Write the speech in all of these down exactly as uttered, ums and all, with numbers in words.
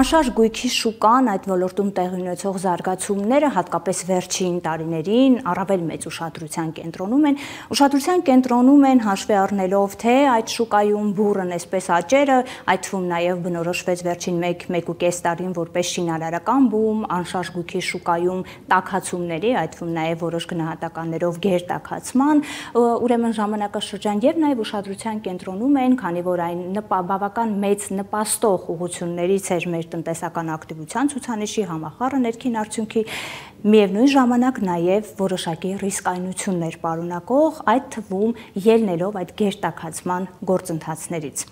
Անշարժ գույքի շուկան այդ ոլորտում տեղի ունեցող զարգացումները հատկապես վերջին տարիներին առավել մեծ ուշադրության կենտրոնում են։ Ուշադրության կենտրոնում են հաշվի առնելով, թե այդ շուկայում բուռն այսպես աճերը, այդ թվում նաև բնորոշվեց վերջին մեկ ու կես տարին որպես շինարարական բում, անշարժ գույքի շուկայում տաքացումների, այդ թվում նաև որոշ գնահատականներով գերտաքացման, ուրեմն ժամանակաշրջան եւ նաև ուշադրության կենտրոնում են, քանի որ այն բավական մեծ նպաստող ուղղություններից էր մեր տնտեսական ակտիվության ցուցանիշի համախառն ներքին արդյունքի, միևնույն ժամանակ նաև որոշակի ռիսկայնություններ պարունակող, այդ թվում ելնելով այդ գերտաքացման գործընթացներից։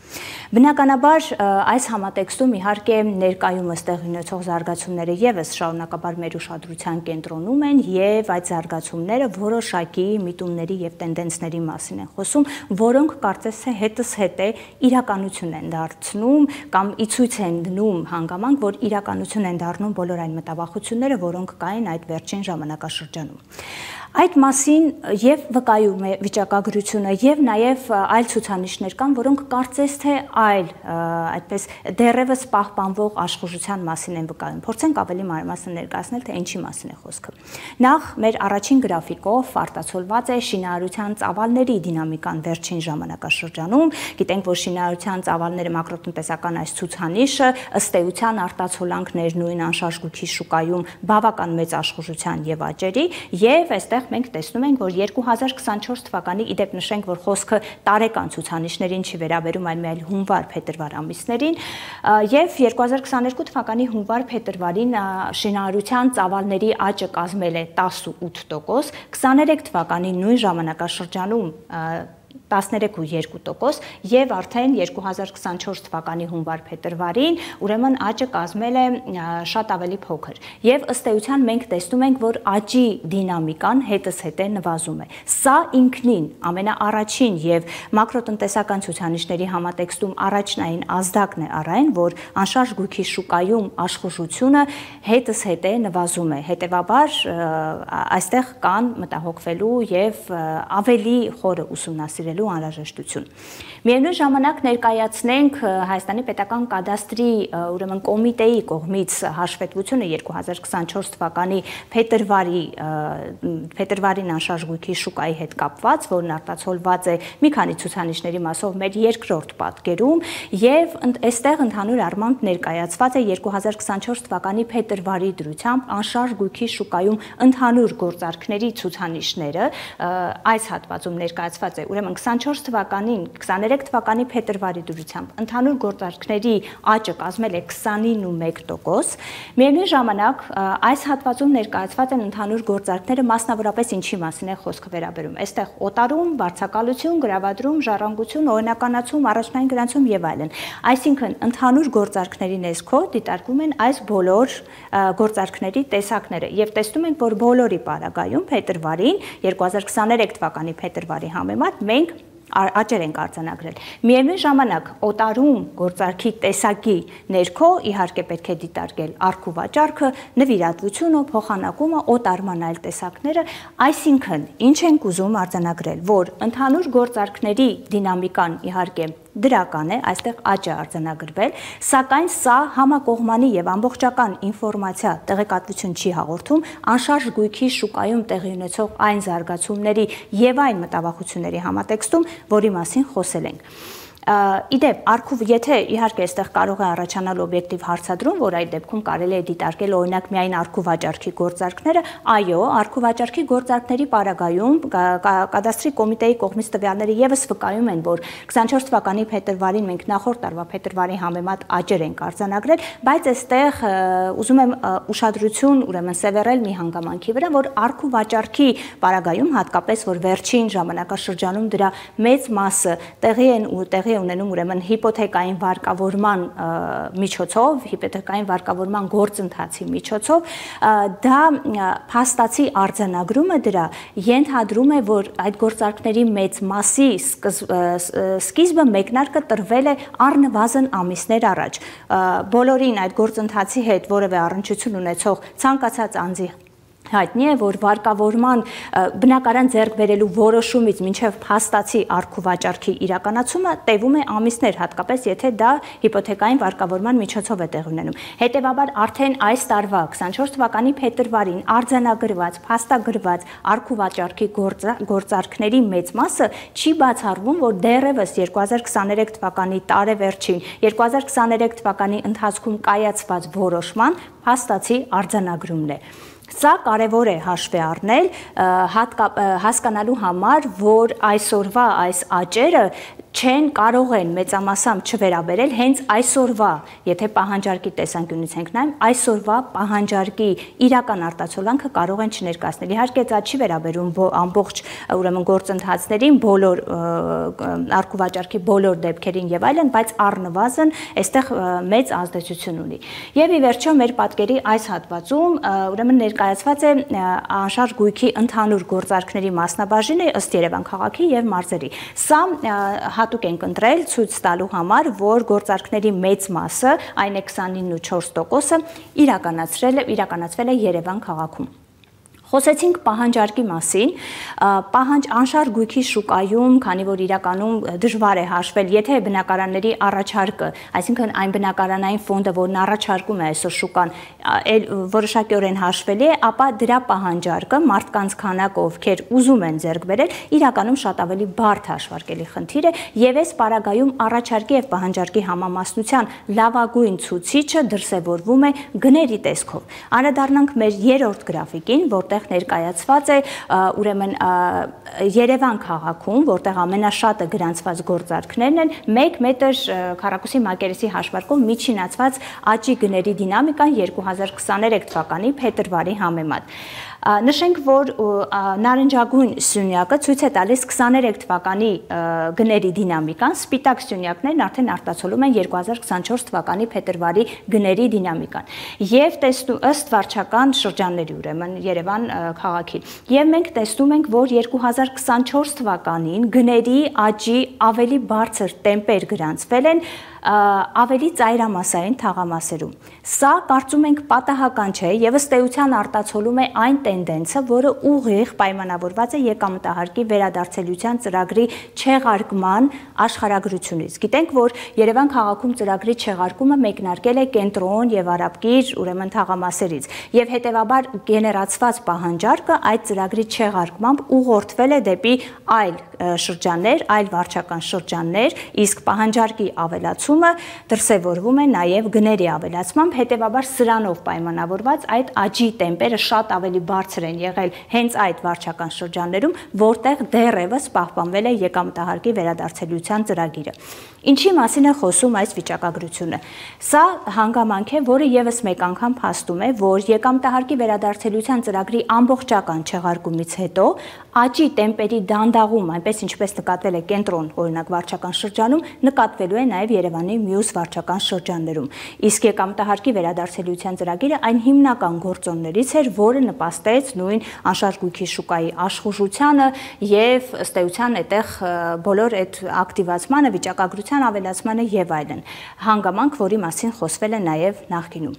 Բնականաբար այս համատեքստում իհարկե ներկայումս տեղի ունեցող զարգացումները եւս շարունակաբար մեր ուշադրության կենտրոնում են եւ այդ զարգացումները որոշակի միտումների եւ տենդենսների մասին են խոսում, որոնք կարծես թե հետս հետ է իրականություն են դարձնում կամ ի ցույց են դնում հանգամանք, որ իրականություն են դառնում բոլոր այն մտավախությունները, որոնք կային այդ վերջին ժամանակաշրջանում։ Այդ մասին եւ վկայում է վիճակագրությունը եւ նաեւ այլ ցուցանիշներ կան, որոնք կարծես թե այլ այդպես դեռևս պահպանվող աշխուժության մասին են վկայում։ Փորձենք ավելի մանրամասն ներկայացնել, թե ինչի մասին է խոսքը։ Նախ մեր առաջին գրաֆիկով արտացոլված է շինարարության ծավալների դինամիկան վերջին ժամանակաշրջանում։ Գիտենք, որ շինարարության ծավալները մակրոտնտեսական այս ցուցանիշը ըստ էության արտացոլանքներ նույն անշարժ գույքի շուկայում բավական մեծ աշխուժության եւ աճերի եւ այստեղ մենք տեսնում ենք, որ երկու հազար քսանչորս թվականի, իդեպ նշենք, որ խոսքը տարեկան ցուցանիշներին չի վերաբերում, այլ միայն հունվար-փետրվար ամիսներին, եւ երկու հազար քսաներկու թվականի հունվար-փետրվարին շինարարության ծավալների աճը կազմել է տասնութ տոկոս, քսաներեք թվականի նույն ժամանակաշրջանում տասներեք ու երկու տոկոս եւ արդեն երկու հազար քսանչորս թվականի հունվար-փետրվարին ուրեմն աճը կազմել է շատ ավելի փոքր եւ ըստ էության մենք տեսնում ենք, որ աճի դինամիկան հետզհետե նվազում է։ Սա ինքնին ամենաառաջին եւ մակրոտնտեսական ցուցանիշների համատեքստում առաջնային ազդակն է առ այն, որ անշարժ գույքի շուկայում աշխուժությունը հետզհետե նվազում է։ Հետեւաբար այստեղ կան մտահոգվելու եւ ավելի խորը ուսումնասիրելու անհրաժեշտություն։ Միևնույն ժամանակ ներկայացնենք Հայաստանի պետական կադաստրի ուրեմն կոմիտեի կողմից հաշվետվությունը երկու հազար քսանչորս թվականի փետրվարի փետրվարին անշարժ գույքի շուկայի հետ կապված, որն արտացոլված է մի քանի ցուցանիշների մասով մեր երկրորդ պատկերում եւ այստեղ ընդհանուր առմամբ ներկայացված է երկու հազար քսանչորս թվականի փետրվարի դրությամբ անշարժ գույքի շուկայում ընդհանուր գործարքների ցուցանիշները, այս հատվածում ներկայացված է ուրեմն քսանչորս թվականին, քսաներեք թվականի փետրվարի դրությամբ ընդհանուր գործարքների աճը կազմել է քսանինը տոկոս։ Միևնույն ժամանակ այս հատվածում ներկայացված են ընդհանուր գործարքները, մասնավորապես ինչի մասին է խոսքը վերաբերում։ Այստեղ օտարում, վարձակալություն, գրավադրում, ժառանգություն, օրինականացում, առաջնային գրանցում եւ այլն։ Այսինքն ընդհանուր գործարքների ներքո դիտարկվում են այս բոլոր գործարքների տեսակները եւ տեսնում ենք, որ բոլորի պարագայում փետրվարին երկու հազար քսաներեք թվականի փետրվարի համեմատ մենք աճեր ենք արձանագրել։ Միևնույն ժամանակ օտարում գործարքի տեսակի ներքո իհարկե պետք է դիտարկել առք ու վաճառքը, նվիրատվությունը, փոխանակումը, օտարման այլ տեսակները, այսինքն ինչ ենք ուզում արձանագրել, որ ընդհանուր գործարքների դինամիկան իհարկե դրական է, այստեղ աճ է արձանագրվել, սակայն սա համակողմանի եւ ամբողջական ինֆորմացիա տեղեկատվություն չի հաղորդում անշարժ գույքի շուկայում տեղի ունեցող այն զարգացումների եւ այն մտավախությունների համատեքստում, որի մասին խոսել ենք։ Իդեպ, արքու, եթե իհարկե այստեղ կարող է առաջանալ օբյեկտիվ հարցադրում, որ այդ դեպքում կարելի է դիտարկել օրինակ միայն արքու վաճառքի գործարքները, այո, արքու վաճառքի գործարքների պարագայում կադաստրի կոմիտեի կողմից տվյալները եւս վկայում են, որ քսանչորս թվականի փետրվարին մենք նախորդ տարվա փետրվարի համեմատ աճեր ենք արձանագրել, բայց այստեղ ուզում եմ ուշադրություն ուրեմն սևեռել մի հանգամանքի վրա, որ արքու վաճառքի պարագայում հատկապես որ վերջին ժամանակաշրջանում դրա մեծ մասը տեղի են ու տեղի ունենում ուրեմն հիպոթեկային վարկավորման միջոցով, հիպոթեկային վարկավորման գործընթացի միջոցով, դա փաստացի արձանագրումը դրա ենթադրում է, որ այդ գործարքների մեծ մասի սկիզբը մեկնարկը տրվել է առնվազն ամիսներ առաջ։ Բոլորին այդ գործընթացի հետ որևէ առնչություն ունեցող ցանկացած անձի հայտնի է, որ վարկավորման բնակարան ձեռք բերելու որոշումից մինչև փաստացի առք ու վաճառքի իրականացումը տևում է ամիսներ, հատկապես եթե դա հիպոթեկային վարկավորման միջոցով է տեղի ունենում։ Հետևաբար արդեն այս տարվա քսանչորս թվականի փետրվարին արձանագրված, փաստագրված առք ու վաճառքի գործարքների մեծ մասը չի բացառվում, որ դեռևս երկու հազար քսաներեք թվականի տարեվերջին, երկու հազար քսաներեք թվականի ընթացքում կայացված որոշման փաստացի արձանագրումն է։ Սա կարևոր է հաշվի առնել հասկանալու համար, որ այսօրվա այս աճերը չեն կարող են մեծամասամբ չվերաբերել հենց այսօրվա, եթե պահանջարկի տեսանկյունից ենք նայում, այսօրվա պահանջարկի իրական արտացոլանքը կարող են չներկայացնել։ Իհարկե դա չի վերաբերում ամբողջ ուրեմն գործընթացներին, բոլոր առք ու վաճառքի բոլոր դեպքերին եւ այլն, բայց առնվազն այստեղ մեծ ազդեցություն ունի։ Եվ ի վերջո մեր պատկերի այս հատվածում ուրեմն ներկայացված է անշարժ գույքի ընդհանուր գործարքների մասնաբաժինը ըստ Երևան քաղաքի եւ մարզերի։ Սա հատուկ ենք ընտրել ցույց տալու համար, որ գործարքների մեծ մասը, այն է քսանինը ու չորս տոկոսը, իրականացրել է իրականացվել է Երևան քաղաքում։ Խոսեցինք պահանջարկի մասին, պահանջ անշարժ գույքի շուկայում, քանի որ իրականում դժվար է հաշվել, եթե բնակարանների առաջարկը, այսինքն այն բնակարանային ֆոնդը, որն առաջարկում է այսօր շուկան, որոշակիորեն հաշվելի է, ապա դրա պահանջարկը մարդկանց քանակը, ովքեր ուզում են ձեռք բերել, իրականում շատ ավելի բարդ հաշվարկելի խնդիր է, եւ այս պարագայում առաջարկի եւ պահանջարկի համամասնության լավագույն ցուցիչը դրսևորվում է գների տեսքով։ Անդրադառնանք մեր երրորդ գրաֆիկին, որտեղ ներկայացված է ուրեմն Երևան քաղաքում, որտեղ ամենաշատը գրանցված գործարքներն են, մեկ մետր քառակուսի մակերեսի հաշվարկով միջինացված աճի գների դինամիկան երկու հազար քսաներեք թվականի փետրվարի համեմատ։ Նշենք, որ նարնջագույն սյունյակը ցույց է տալիս քսաներեք թվականի գների դինամիկան, սպիտակ սյունյակներն արդեն արտացոլում են երկու հազար քսանչորս թվականի փետրվարի գների դինամիկան։ Եվ տեսնում ըստ վարչական շրջանների, ուրեմն Երևան քաղաքի։ Եվ մենք տեսնում ենք, որ երկու հազար քսանչորս թվականին գների աճի ավելի բարձր տեմպեր գրանցվել են ավելի ծայրամասային թաղամասերում։ Սա կարծում ենք պատահական չէ եւ ըստ էության արտացոլում է այն տենդենսը, որը ուղիղ պայմանավորված է եկամտահարկի վերադարձելիության ծրագրի չեղարկման աշխարհագրությունից։ Գիտենք, որ Երևան քաղաքում ծրագրի չեղարկումը մեկնարկել է կենտրոն եւ Արաբկիր, ուրեմն թաղամասերից, եւ հետեւաբար գեներացված պահանջարկը այդ ծրագրի չեղարկմամբ ուղղորդվել է դեպի այլ շրջաններ, այլ վարչական շրջաններ, իսկ պահանջարկի ավելացումը դրսևորվում է նաև գների ավելացմամբ, հետևաբար սրանով պայմանավորված այդ աճի տեմպերը շատ ավելի բարձր են եղել հենց այդ վարչական շրջաններում, որտեղ դեռևս պահպանվել է եկամտահարկի վերադարձելիության ծրագիրը։ Ինչի մասին է խոսում այս վիճակագրությունը։ Սա հանգամանք է, որը եւս մեկ անգամ փաստում է, որ եկամտահարկի վերադարձելիության ծրագրի ամբողջական չեղարկումից հետո աճի տեմպերի դանդաղում, այնպես ինչպես նկատվել է կենտրոն, օրինակ վարչական շրջանում, նկատվելու է նաև Երևանի մյուս վարչական շրջաններում։ Իսկ եկամտահարկի վերադարձելիության ծրագիրը այն հիմնական գործոններից էր, որը նպաստեց նույն անշարժ գույքի շուկայի աշխուժությանը եւ ըստ էության այդտեղ բոլոր այդ ակտիվացմանը, վիճակագրության ավելացմանը եւ այլն։ Հանգամանք, որի մասին խոսվել է նաև նախկինում։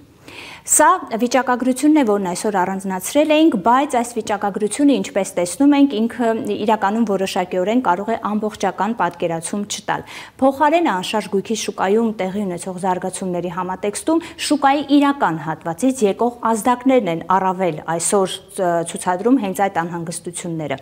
Սա վիճակագրությունն է, որն այսօր առանձնացրել էինք, բայց այս վիճակագրությունը, ինչպես տեսնում ենք, ինքը իրականում որոշակիորեն կարող է ամբողջական պատկերացում չտալ։ Փոխարենը անշարժ գույքի շուկայում տեղի ունեցող զարգացումների համատեքստում շուկայի իրական հատվածից եկող ազդակներն են առավել այսօր ցուցադրում հենց այդ անհանգստությունները։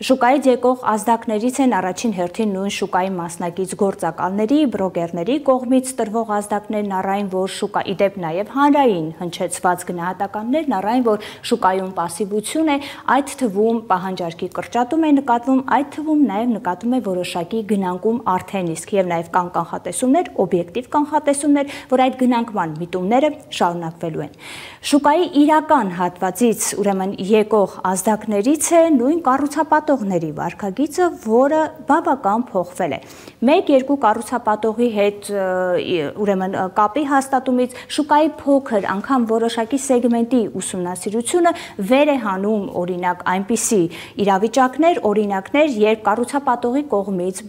Շուկայից եկող ազդակներից են առաջին հերթին նույն շուկայի մասնակից գործակալների, բրոկերների կողմից տրվող ազդակներն առայն, որ շուկա իդեպ նաև հանրային հնչեցված գնահատականներն առայն, որ շուկայում պասիվություն է, այդ թվում պահանջարկի կրճատում է նկատվում, այդ թվում նաև նկատում է որոշակի գնանկում արդեն իսկ եւ նաև կան կանխատեսումներ, օբյեկտիվ կանխատեսումներ, որ այդ գնանկման միտումները շարունակվելու են։ Շուկայի իրական հատվածից ուրեմն եկող ազդակներից է նույն կառուցապատ կառուցապատողների վարքագիծը, որը բավական փոխվել է։ Մեկ-երկու կառուցապատողի հետ ուրեմն կապի հաստատումից շուկայի փոքր անգամ որոշակի սեգմենտի ուսումնասիրությունը վեր է հանում օրինակ այնպիսի իրավիճակներ, օրինակներ, երբ կառուցապատողի կողմից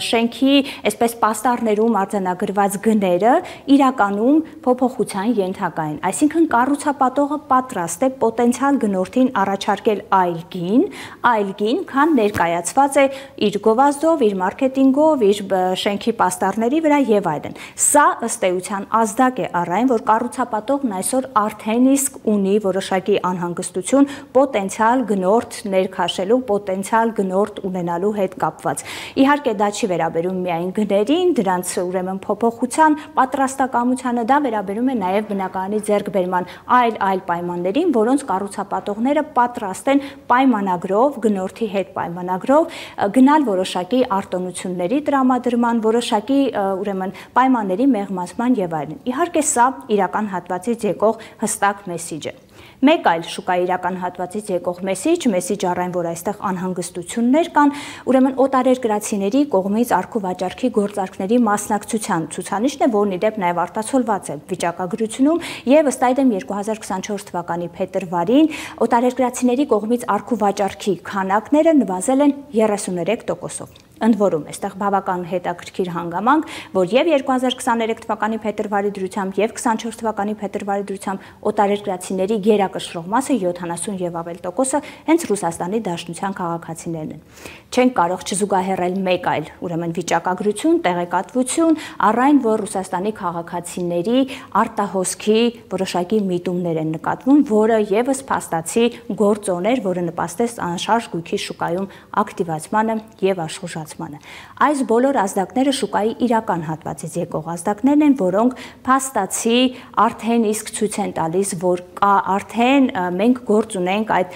շենքի այսպես պաստառներում արձանագրված գները իրականում փոփոխության ենթակա են։ Այսինքն կառուցապատողը պատրաստ է պոտենցիալ գնորդին առաջարկել այլ գին, այլ գին, քան ներկայացված է իր գովազդով, իր մարքեթինգով, իր շենքի պաստառների վրա եւ այլն։ Սա ըստ էության ազդակ է առ այն, որ կառուցապատողն այսօր արդեն իսկ ունի որոշակի անհանգստություն պոտենցիալ գնորդ ներքաշելու, պոտենցիալ գնորդ ունենալու հետ կապված։ Իհարկե դա չի վերաբերում միայն գներին, դրանց ուրեմն փոփոխության պատրաստակամությանը, դա վերաբերում է նաև բնակարանի ձեռքբերման այլ այլ պայմաններին, որոնց կառուցապատողները պատրաստ են պայմանագրով, գնորդի հետ պայմանագրով գնալ որոշակի արտոնությունների տրամադրման, որոշակի ուրեմն պայմանների մեղմացման եւ այլն։ Իհարկե սա իրական հատվածից եկող հստակ մեսիջ է։ Մեկ այլ շուկայի իրական հատվածից եկող մեսիջ, մեսիջ առ այն, որ այստեղ անհանգստություններ կան, ուրեմն օտարերկրացիների կողմից առք ու վաճառքի գործարքների մասնակցության ցուցանիշն է, որն ի դեպ նաև արտացոլված է վիճակագրությունում եւ ըստ այդմ երկու հազար քսանչորս թվականի փետրվարին օտարերկրացիների կողմից առք ու վաճառքի քանակները նվազել են երեսուներեք տոկոսով։ Ընդ որում, այստեղ բավական հետաքրքիր հանգամանք, որ եւ երկու հազար քսաներեք թվականի փետրվարի դրությամբ եւ քսանչորս թվականի փետրվարի դրությամբ օտարերկրացիների գերակշռող մասը յոթանասուն եւ ավել տոկոսը հենց Ռուսաստանի Դաշնության քաղաքացիներն են։ Չենք կարող չզուգահեռել մեկ այլ, ուրեմն վիճակագրություն, տեղեկատվություն, առ այն, որ Ռուսաստանի քաղաքացիների արտահոսքի որոշակի միտումներ են նկատվում, որը եւս փաստացի գործոն էր, որը նպաստեց անշարժ գույքի շուկայում ակտիվացմանը եւ աշխուժ Այս բոլոր ազդակները շուկայի իրական հատվածից եկող ազդակներն են, որոնք փաստացի արդեն իսկ ցույց են տալիս, որ կա արդեն մենք գործ ունենք այդ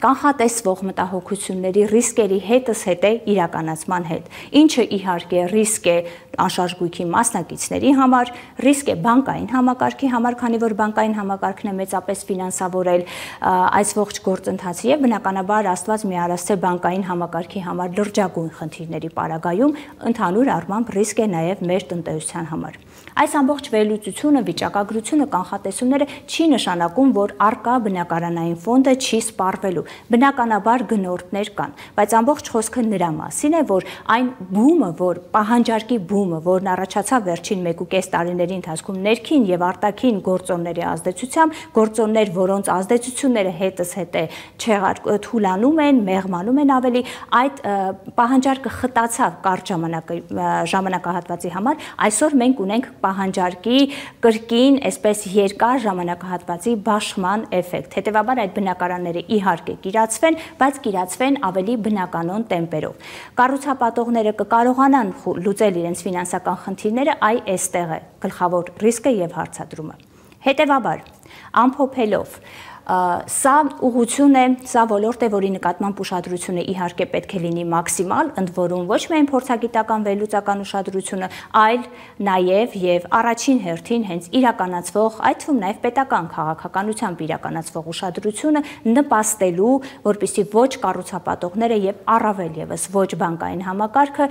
կանխատեսվող մտահոգությունների ռիսկերի հետզհետե իրականացման հետ, ինչը իհարկե ռիսկ է անշարժ գույքի մասնակիցների համար, ռիսկ է բանկային համակարգի համար, քանի որ բանկային համակարգն է մեծապես ֆինանսավորել այս ողջ գործընթացը եւ բնականաբար Աստված մի արասցե բանկային համակարգի համար լրջագույն խնդիրների պարագայում ընդհանուր առմամբ ռիսկ է նաև մեր տնտեսության համար։ Այս ամբողջ վերլուծությունը, վիճակագրությունը, կանխատեսումները չի նշանակում, որ առկա բնակարանային ֆոնդը չի սպառվելու։ Բնականաբար գնորդներ կան, բայց ամբողջ խոսքը նրա մասին է, որ այն բումը, որ պահանջարկի բումը, որն առաջացավ վերջին մեկ ու կես տարիների ընթացքում ներքին եւ արտաքին գործոնների ազդեցությամբ, գործոններ, որոնց ազդեցությունները հետզհետե թուլանում են, մեղմանում են ավելի, այդ պահանջարկը խտացավ կարճ ժամանակահատվածի համար, այսօր մենք ունենք պահանջարկի կրկին, այսպես երկար ժամանակահատվածի բաշխման էֆեկտ։ Հետևաբար այդ բնակարանները իհարկե կիրացվեն, բայց կիրացվեն ավելի բնականոն տեմպերով։ Կառուցապատողները կկարողանան լուծել իրենց ֆինանսական խնդիրները, այ այստեղ է գլխավոր ռիսկը եւ հարցադրումը։ Հետևաբար, ամփոփելով, սա ուղղություն է, սա ոլորտ է, որի նկատմամբ ուշադրությունը իհարկե պետք է լինի մաքսիմալ, ընդ որում ոչ միայն փորձագիտական վերլուծական ուշադրությունը, այլ նաև եւ առաջին հերթին հենց իրականացվող, այդ թվում նաև պետական քաղաքականությամբ իրականացվող ուշադրությունը նպաստելու, որպեսզի ոչ կառուցապատողները եւ առավել եւս ոչ բանկային համակարգը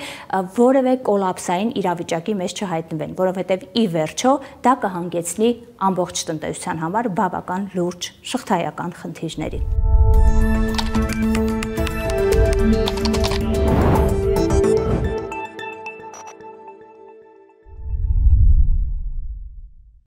որևէ կոլապսային իրավիճակի մեջ չհայտնվեն, որովհետեւ ի վերջո դա կհանգեցնի ամբողջ տնտեսության համար բավական լուրջ շղթայական խնդիրների։